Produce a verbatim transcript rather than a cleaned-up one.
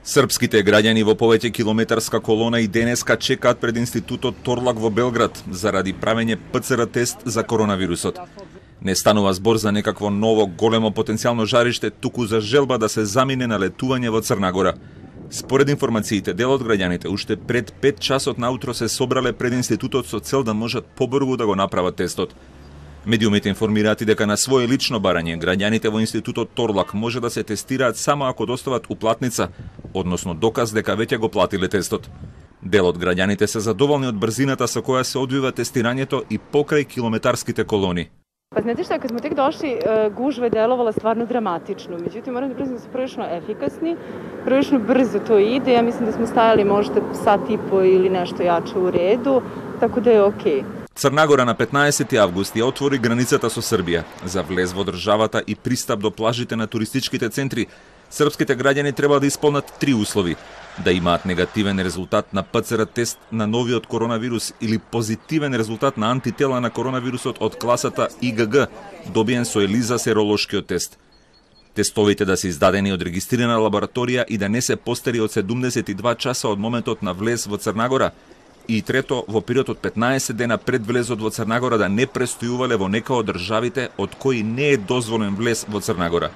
Српските граѓани во повеќе километарска колона и денеска чекаат пред Институтот Торлак во Белград заради правење П Ц Р тест за коронавирусот. Не станува збор за некакво ново големо потенцијално жариште, туку за желба да се замине на летување во Црна Гора. Според информациите, дел од граѓаните уште пред пет часот наутро се собрале пред институтот со цел да можат побрзо да го направат тестот. Медиумите информираат и дека на свое лично барање граѓаните во Институтот Торлак може да се тестираат само ако достават уплатница, односно доказ дека веќе го платиле тестот. Дел од граѓаните се задоволни од брзината со која се одвива тестирањето и покрај километарските колони. Pa znate šta, kad smo tek došli, gužva je delovala stvarno dramatično. Međutim, moram da priznam da su prilično efikasni, prilično brzo to ide. Ja mislim da smo stajali možda sat i po ili nešto jače u redu, tako da je okej. Црна Гора на петнаесети август ја отвори границата со Србија. За влез во државата и пристап до плажите на туристичките центри, српските граѓани треба да исполнат три услови: да имаат негативен резултат на П Ц Р тест на новиот коронавирус или позитивен резултат на антитела на коронавирусот од класата И Г Г, добиен со ELISA серолошкиот тест. Тестовите да се издадени од регистрирана лабораторија и да не се постари од седумдесет и два часа од моментот на влез во Црна Гора. И трето, во период од петнаесет дена пред влезот во Црна Гора да не престојувале во нека од државите од кои не е дозволен влез во Црна Гора.